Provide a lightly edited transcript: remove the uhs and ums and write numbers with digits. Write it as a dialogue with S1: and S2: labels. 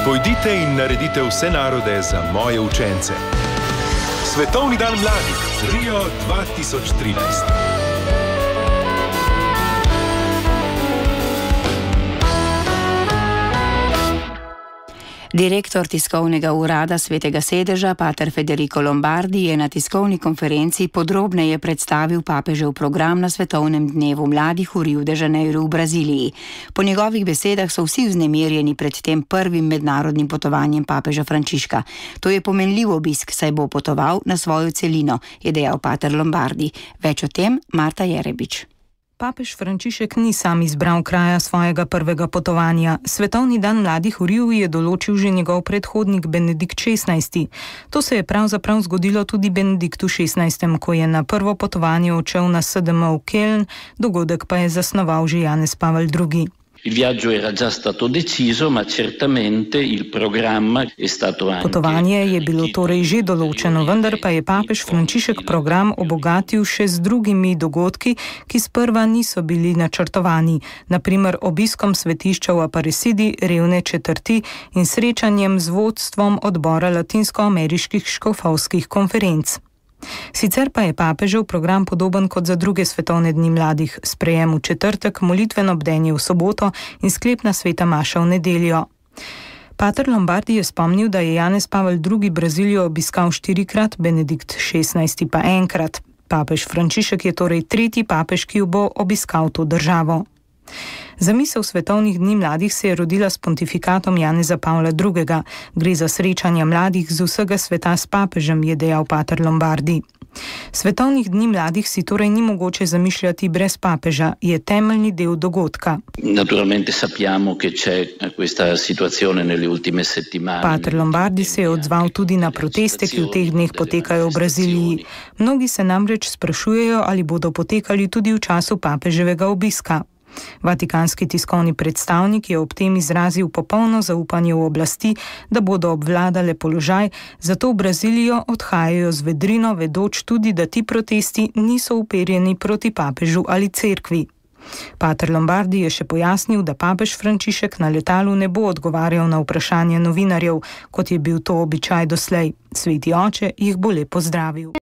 S1: Pojdite in naredite vse narode za moje učence. Svetovni dan mladih, Rio 2013.
S2: Direktor tiskovnega urada Svetega sedeža, pater Federico Lombardi, je na tiskovni konferenci podrobneje predstavil papežev program na Svetovnem dnevu mladih v Rio de Janeiro v Braziliji. Po njegovih besedah so vsi vznemirjeni pred tem prvim mednarodnim potovanjem papeža Frančiška. To je pomenljiv obisk, saj bo potoval na svojo celino, je dejal pater Lombardi. Več o tem Marta Jerebič.
S3: Papež Frančišek ni sam izbral kraja svojega prvega potovanja. Svetovni dan mladih v Riu je določil že njegov predhodnik Benedikt XVI. To se je pravzaprav zgodilo tudi Benediktu XVI, ko je na prvo potovanje odšel na SDM v Köln, dogodek pa je zasnoval že Janez Pavel II.
S4: Il viaggio era già stato deciso, ma certamente il programma è stato anche...
S3: Potovanje je bilo torej že določeno, vendar pa je papež Frančišek program obogatil še z drugimi dogodki, ki sprva niso bili načrtovani, naprimer obiskom svetišča v Aparecidi, revne četrti in srečanjem z vodstvom odbora latinskoameriških škofovskih konferenc. Sicer pa je papežev program podoben kot za druge svetovne dni mladih, sprejem v četrtek, molitveno bdenje v soboto in sklepna sveta maša v nedeljo. Pater Lombardi je spomnil, da je Janez Pavel II. Brazilijo obiskal 4-krat, Benedikt XVI. Pa enkrat. Papež Frančišek je torej tretji papež, ki bo obiskal to državo. Zamisel svetovnih dni mladih se je rodila s pontifikatom Janeza Pavla II. Gre za srečanja mladih z vsega sveta s papežem, je dejal pater Lombardi. Svetovnih dni mladih si torej ni mogoče zamišljati brez papeža, je temeljni del dogodka.
S4: Naturalmente sappiamo che c'è questa situazione nelle ultime settimane.
S3: Pater Lombardi se je odzval tudi na proteste, ki v teh dneh potekajo v Braziliji. Mnogi se namreč sprašujejo, ali bodo potekali tudi v času papeževega obiska. Vatikanski tiskovni predstavnik je ob tem izrazil popolno zaupanje v oblasti, da bodo obvladale položaj, zato v Brazilijo odhajajo z vedrino, vedoč tudi, da ti protesti niso uperjeni proti papežu ali cerkvi. Pater Lombardi je še pojasnil, da papež Frančišek na letalu ne bo odgovarjal na vprašanja novinarjev, kot je bil to običaj doslej. Sveti oče jih bo le pozdravil.